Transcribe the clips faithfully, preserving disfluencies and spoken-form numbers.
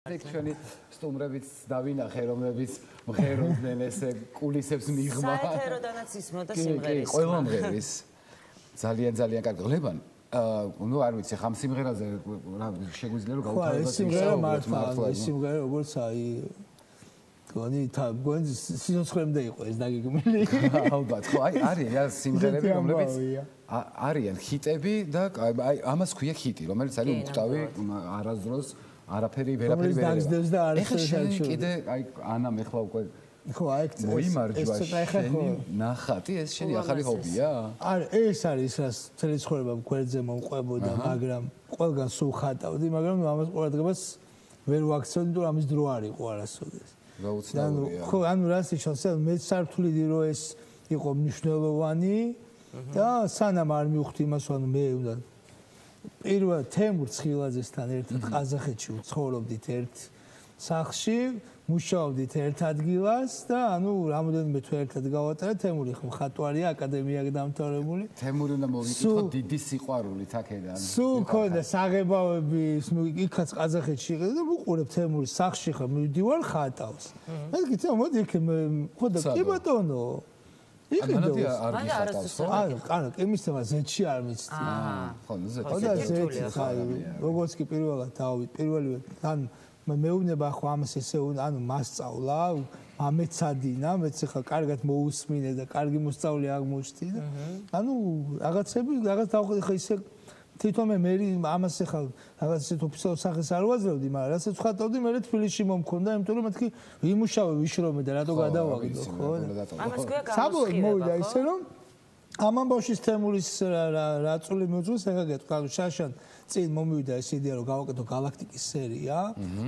ჩვენი სტუმრებიც დავინახე, რომლებიც მღეროდნენ ესე კულისებს მიღმა. საეთეროდანაც ისმოდა სიმღერის. კი, ყველა მღერის. ძალიან ძალიან კარგი. ლებან, ნუ არ ვიცი, ხამ სიმღერაზე რა შეგვიძლია რომ გავუთავოთ ეს სიმღერა მართლა, ეს სიმღერა როგორც აი გონი თა გონი სიცოცხლემდე იყო ეს დაგეგმილი. ალბათ, ხო, აი არის სიმღერები, რომლებიც არიან ჰიტები და აი ამას ქვია ჰიტი, რომელიც არის უკტავი არასდროს არაფერი ვერაფერი ვერ არის. ეხლა შენ კიდე აი ანამ ეხლა უკვე ხო აი მოიმარჯვა შენი ნახატი ეს შენი ახალი ჰობია? არა ეს არის რაც მთელი ცხოვრება გვერდზე მომყვებოდა მაგრამ ყველგან სულ ხატავდი მაგრამ ამას ყურადღებას ვერ ვაქცევდი თუ ამის დრო არ იყო არასოდეს. გაუცნაურია. ხო ანუ რას ნიშნავს მე სართული რო ეს იყო მნიშვნელოვანი და სანამ არ მივხვდი იმას ანუ მე უნდა პირველ თემურ ცხილაძესთან ერთად ყაზახეთში ვცხოვრობდით ერთ სახლში, მუშაობდით ერთ ადგილას და ანუ რამოდენიმე თვე ერთად გავატარეთ. თემური მხატვარია, აკადემია დამთავრებული. თემური უნდა მოვიკითხო დიდი სიყვარულით აქედან. სულ ქონდა საღებავები, იქაც ყაზახეთში იყიდა და ვუყურებ თემურის სახლში ხარ, მივდივარ ხატავს. მე გითხრა მოდი იქ ხო და კი ბატონო ამანადი არ გიხატავს ხო? არა, არა, იმისთამა ზეთში არ მიცდი. აა, ხო, ზეთში. ხო და ზეთი ხარ. როგორც კი პირველად დავით, პირველივე ან მეუბნება ხო ამას ესე ანუ მასწავლა, ამეცადინა, მეც ხა კარგად მოусმინე და კარგი მოსწავლე აღმოჩნდი და ანუ რაღაცები რაღაც დავხვდი ხა ისე თვითონ მე მე ამას ხა რაღაც ისეთ ოფიციალურ სახეს არ ვაძლევდი, მაგრამ რასაც ვხატავდი მე თბილისში მომქონდა, იმიტომ რომ მეთქი ვიმუშავე, ვიშრომე და რატო გადავაგდო, ხო? ამას ქვია საბოლოოდ მოვიდა ისე რომ ამ ამბავშის თემურის რაწული მოძულს ეხა გეტყვი, შაშან წინ მომივიდა ეს იდეა რომ გავაკეთო გალაქტიკის სერია,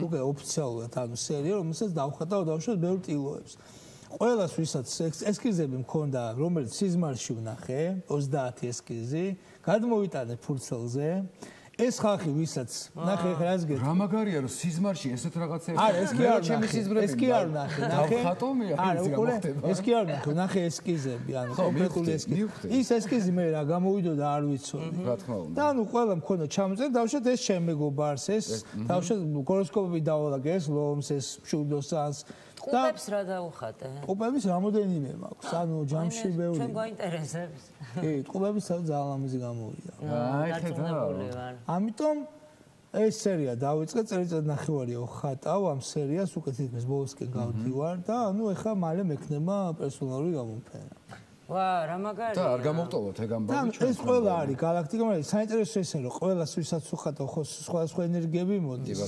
უკვე ოფიციალურად ანუ სერია, რომელსაც დავხატავ დავუშვათ ბევრ ტილოებს. ყველას ვისაც ესკიზები მქონდა, რომელიც სიზმარში ვნახე, ოცდაათი ესკიზი, გადმოვიტანე ფურცელზე. ეს ხალხი ვისაც ნახე ხა რას გეტყვი? რა მაგარია რომ სიზმარში ესეთ რაღაცები. არა, ეს კი არ ჩემი სიზმრები. ეს კი არ ნახე, ნახე. დავხატო მე არა, უკვე ეს კი არ ნახე, ნახე ესკიზები, ანუ კონკრეტული ესკიზი. ის ესკიზი მე რა გამოვიდოდა არ ვიცოდი. რა თქმა უნდა. და ანუ ყველა მქონდა ჩამოწერა, დავუშვათ ეს ჩემ მეგობარს, ეს დავუშვათ გოროსკოპები დავალაგე ეს ლომს, ეს შუდოსანს. ყუბებს რა დაუხატე? ყუბების რამოდენიმე მაქვს, ანუ ჯამში ბევრი. ჩვენ გვაინტერესებს. კი, ყუბების ძალიან ლამაზი გამოვიდა. აი ხედავ. ამიტომ ეს სერია დავიწყე, წელიწად ნახევარია ვხატავ ამ სერიას, უკვე თითქმის ბოლოსკენ გავდივარ და ანუ ეხლა მალე მექნება პერსონალური გამოფენა. ვა, რა მაგარია. და არ გამოვტოვოთ ეგ ამბავი ჩვენ. ეს ყველა არის გალაქტიკა, მაგრამ საინტერესო ისე რომ ყველას ვისაც ვხატავ ხო სხვადასხვა ენერგიები მოდის.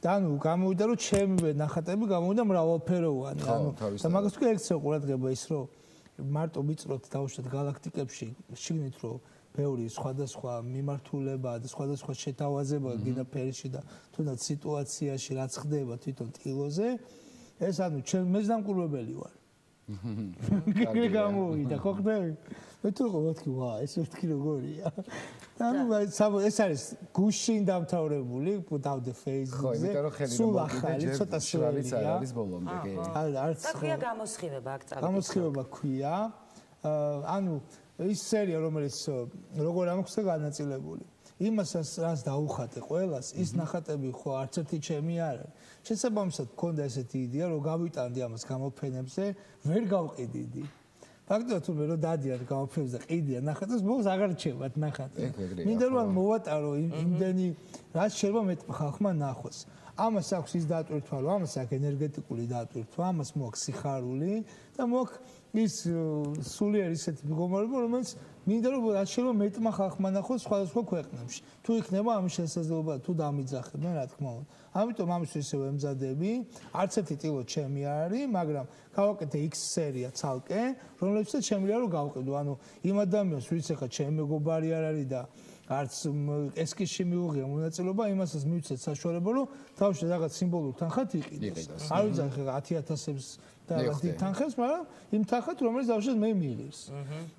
და ანუ გამოვიდა რომ ჩემი ნახატები გამოვიდა მრავალფეროვანი. ანუ და მაგას თქვი ექცეო ყურადღება ის რომ მარტო ვიწროთ დავუშვათ გალაქტიკებში, შიგნით რომ ბევრი სხვადასხვა მიმართულება და სხვადასხვა შეთავაზება გინდა ფერში და თუნდაც სიტუაციაში რაც ხდება თვითონ ტილოზე, ეს ანუ ჩემ მეზდამკურვებელი ვარ. კი გამოვიდა, ხო ხდები? მე თუ მეთქი, ვა, ეს მეთქი როგორია? ანუ ეს არის გუშინ დამთავრებული, დავდე Facebook-ზე. სულ ახალი, ცოტა შრალიც არ არის ბოლომდე, კი. არც და ქვია გამოსხივება აქ წავიდა. გამოსხივება ქვია. ანუ ის სერია, რომელიც როგორ ამხსნა განაწილებული. იმასაც რაც დაუხატე ყველას, ის ნახატები ხო არც ერთი ჩემი არ არის. შესაბამისად მქონდა ესეთი იდეა, რომ გავიტანდი ამას გამოფენებზე, ვერ გავყიდიდი. ფაქტობრივად თუ მე რომ დადიან გამოფენებზე ყიდიან ნახატებს, ბოლოს აღარ რჩებათ ნახატი. მინდა რომ მოვატარო იმდენი რაც შეიძლება მეტ ხალხმა ნახოს. ამას აქვს ის დატვირთვა, რომ ამას აქვს ენერგეტიკული დატვირთვა, ამას მოაქვს სიხარული და მოაქვს ის სულიერ ისეთი მდგომარეობა, რომელიც მინდა რომ რაც შეიძლება მეტმა ხალხმა ნახოს სხვადასხვა ქვეყნებში. თუ იქნება ამის შესაძლებლობა, თუ დამიძახებენ, რა თქმა უნდა. ამიტომ ამისთვის ისევ ემზადები, არც ერთი ტილო ჩემი არ არის, მაგრამ გავაკეთე X სერია ცალკე, რომლებსაც შემიძლია რომ გავყიდო. ანუ იმ ადამიანს, ვინც ახლა ჩემი მეგობარი არ არის და არც ესკიზში მიუღია მონაწილეობა, იმასაც მივცეთ საშუალება, რომ თავში რაღაც სიმბოლურ თანხად იყიდოს. არ ვიცი ახლა ათი ათასებს და დიდ თანხებს, მაგრამ იმ თანხად რომელიც დავუშვათ მე მიიღებს.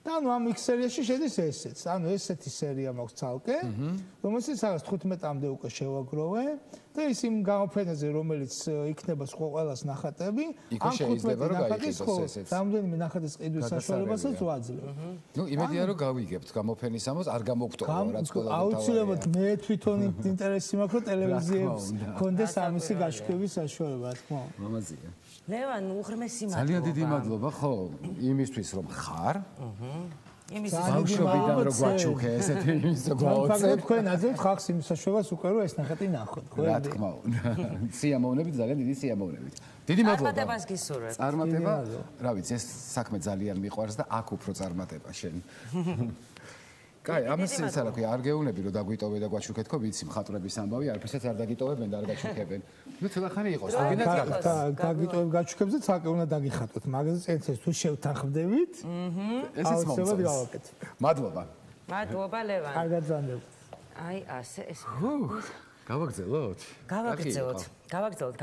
და ანუ ამ X სერიაში შედის ესეც. ანუ ესეთი სერია მაქვს ცალკე, რომელსაც რაღაც თხუთმეტამდე უკვე შევაგროვე და ის იმ გამოფენაზე რომელიც იქნება სხვა ყველას ნახატები, ამ თხუთმეტი ნახატის ხო რამდენიმე ნახატის ყიდვის საშუალებასაც ვაძლევ. ნუ იმედია რომ გავიგებთ გამოფენის ამას, არ გამოგტოვა რაც ყველა თავი. აუცილებლად მე თვითონ ინტერესი მაქვს რომ ტელევიზიებს კონდეს ამისი გაშუქების საშუალება, რა თქმა უნდა. მამაზია. ლევან, უღრმესი მადლობა. ძალიან დიდი მადლობა, ხო, იმისთვის რომ ხარ. აჰა. იმის ბავშვობიდან რო გვაჩუქე ესეთი იმის გვაოცე. ფაქტობრივად თქვენ აძლევთ ხალხს იმ საშუალებას უკვე რომ ეს ნახატი ნახოთ, ხო? რა თქმა უნდა. სიამოვნებით, ძალიან დიდი სიამოვნებით. დიდი მადლობა. წარმატებას გისურვებთ. წარმატება, რა ვიცი, ეს საქმე ძალიან მიყვარს და აქ უფრო წარმატება შენ. კაი, ამას ის არა ქვია, არ გეუნები რომ დაგვიტოვე და გვაჩუქეთ, ხო, ვიცი, მხატვრების ამბავი, არაფერსაც არ დაგიტოვებენ და არ გაჩუქებენ. ნუ ცოტახანი იყოს, გინდათ რაღაცა. დაგიტოვებ გაჩუქებს და ცალკე უნდა დაგიხატოთ. მაგაზე წენცეს თუ შევთანხმდებით, ესეც მომწონს. მადლობა. მადლობა, ლევან. კარგად ზანდებთ. აი, ასე ეს. გავაგზავნოთ? გავაგზავნოთ. გავაგზავნოთ.